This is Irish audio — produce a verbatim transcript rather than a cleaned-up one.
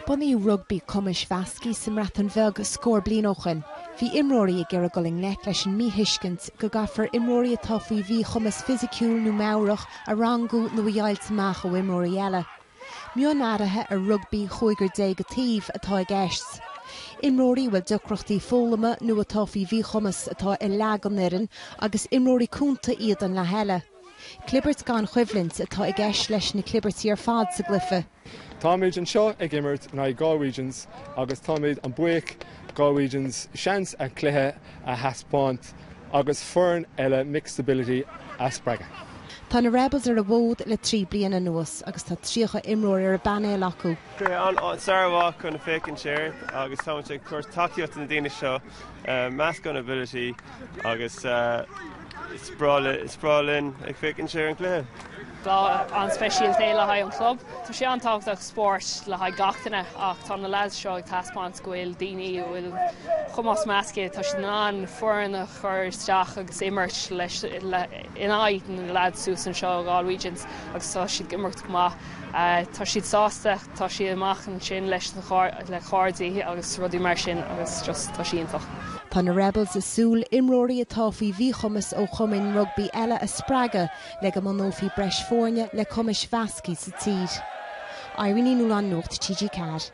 Bunaíodh rugbaí cumais mheasctha sa mBreatain Bheag scór bliain ó shin. Bhí imreoirí ag iarraidh dul i ngleic leis an míthuiscint go gcaithfear imreoirí atá faoi mhíchumas fisiciúil nó meabhrach a rangú nó a dheighilt amach ó imreoirí eile. Mionathruithe ar rugbaí chúigear déag an taobh atá i gceist. Imreoirí a bhfuil deacrachtaí foghlama nó atá faoi mhíchumas atá i leath den fhoireann agus imreoirí cúnta iad an leath eile. Clibirt gan choimhlint atá i gceist leis na clibirtí ar fad sa gcluiche. Táimid anseo ag imirt in aghaidh Galwegians agus táimid an-bhuíoch Galwegians seans a cluiche a thaispeáint agus foireann eile mixed ability a spreagadh. Tá na Rebels ar an bhfód le trí bliana anuas agus tá tríocha imreoir ar a bpainéal acu. An-mhaith chun féachaint air agus tá ag cur tacaíocht na daoine seo meascán ability agus is breá linn ag féachaint ar an cluiche. Lá an-speisialta le haghaidh an club. Tá sé an-tábhachtach spórt le haghaidh gach duine ach tá na lads seo ag taispeáint go bhfuil daoine bhfuil cumas measctha tá siad an foireann a chur isteach agus imirt leis in aghaidh na lads suas anseo Galwegians agus tá siad ag imirt go maith. Tá siad sásta tá siad amach ansin leis le cairde agus rudaí mar sin agus just tá sé iontach. Tá na Rebels ag súil imreoirí atá faoi mhíchumas ó chumainn rugbaí eile a spreagadh le go mbunófaí breis foirne le cumais mheasctha sa tír. Irene Nuland Nuacht TG Ceathair.